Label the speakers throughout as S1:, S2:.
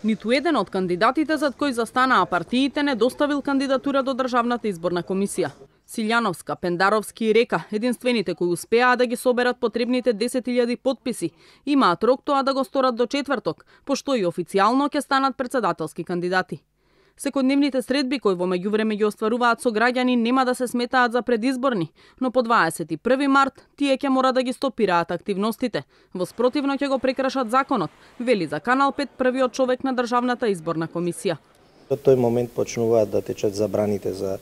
S1: Ниту еден од кандидатите зад кои застанаа партиите не доставил кандидатура до Државната изборна комисија. Силјановска, Пендаровски и Река, единствените кои успеаа да ги соберат потребните 10.000 потписи, имаат рок тоа да го сторат до четврток, пошто и официјално ќе станат претседателски кандидати. Секојдневните средби кои во меѓувреме ги остваруваат со граѓани нема да се сметаат за предизборни, но по 21 март тие ќе мора да ги стопираат активностите. Во спротивно ќе го прекршат законот, вели за Канал 5 првиот човек на Државната изборна комисија.
S2: Во тој момент почнуваат да течат забраните за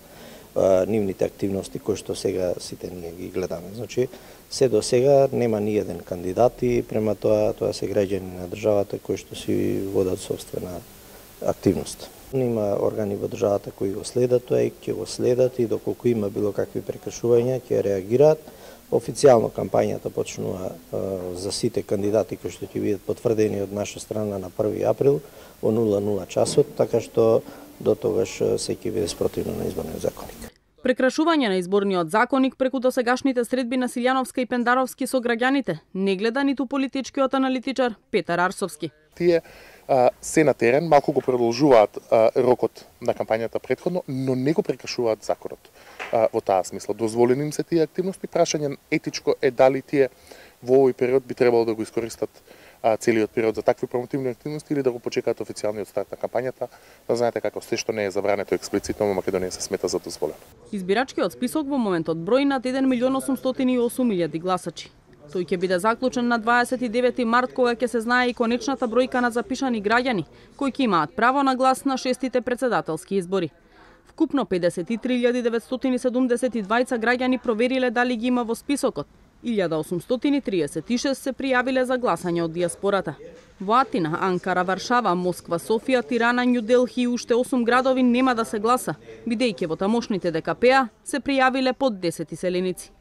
S2: нивните активности кои што сега сите ние ги гледаме. Значи, се до сега нема ни еден кандидат и према тоа се граѓани на државата кои што си водат собствена активност. Има органи во државата кои го следат тоа и ќе го следат и доколку има било какви прекршувања ќе реагираат. Официјално кампањата почнува за сите кандидати кои што ќе бидат потврдени од наша страна на 1 април во 00 часот, така што до тогаш се ќе биде спротивно на изборниот законник.
S1: Прекрашување на изборниот законник преку досегашните средби на Силјановска и Пендаровски со граѓаните не гледа ниту политичкиот аналитичар Петар Арсовски.
S3: Тие се на терен, малку го продолжуваат рокот на кампањата претходно, но не го прекршуваат законот. Во таа смисла, дозволени им се тие активности, прашање етичко е дали тие во овој период би требало да го искористат целиот период за такви промотивни активности или да го почекаат официјалниот старт на кампањата. Да знаете како се што не е забрането експлицитно во Македонија се смета за дозволено.
S1: Избирачкиот список во моментот брои над 1.808.000 гласачи. Тој ќе биде заклучен на 29 март кога ќе се знае и конечната бројка на запишани граѓани кои ќе имаат право на глас на 6-тите претседателски избори. Вкупно 53.972 граѓани провериле дали ги има во списокот. 1836 се пријавиле за гласање од диаспората. Во Атина, Анкара, Варшава, Москва, Софија, Тирана, Њу Делхи и уште 8 градови нема да се гласа, бидејќи во тамошните ДКП-а се пријавиле под 10 селеници.